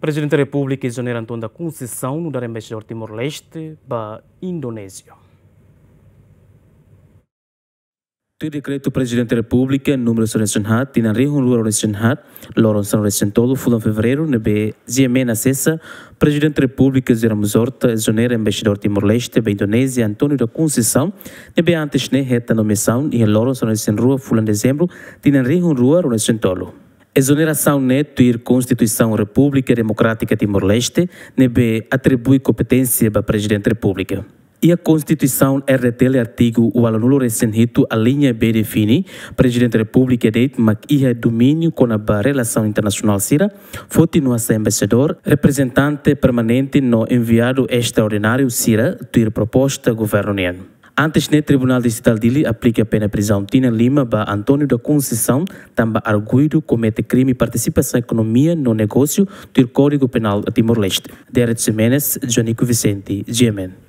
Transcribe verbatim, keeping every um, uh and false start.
Prezidente Repúblika José Ramos Horta nu'udar Embaixadór Timor-Leste ba Indonézia. Tuir dekretu Prezidente Repúblika númeru sanulu-resin-haat, tinan rihun rua ruanulu-resin-haat, loron sanulu-resin-tolu fulan Fevereiru, ne'ebé G M N asesa, Prezidente Repúblika José Ramos Horta ezonera Embaixadór Timor-Leste ba Indonézia António da Conceição, ne'ebé antes ne'e hetan nomeasaun iha loron sanulu-resin-rua fulan Dezembru, tinan rihun rua ruanulu-resin-tolu. Ezonerasaun ne'e tuir Konstituisaun Repúblika Demokrátika Timor-Leste, ne'ebé atribui kompeténsia ba Prezidente Repúblika. Iha Konstituisaun R D T L artigu ualunulu-resin-hitu aliña B define Prezidente Repúblika de'it mak iha domíniu kona-ba relasaun internasionál sira, foti no hasa'e embaixadór, reprezentante permanente no enviadu estraordináriu sira, tuir proposta governu nian. Antes ne'e, Tribunál Distritál Dili aplika pena prizaun tinan lima ba António da Conceição, tanba arguidu komete krime partisipasaun ekonomia no negósiu, tuir Kódigu Penál Timor-Leste. Derek Ximenes, Jonico Vicente, G M N.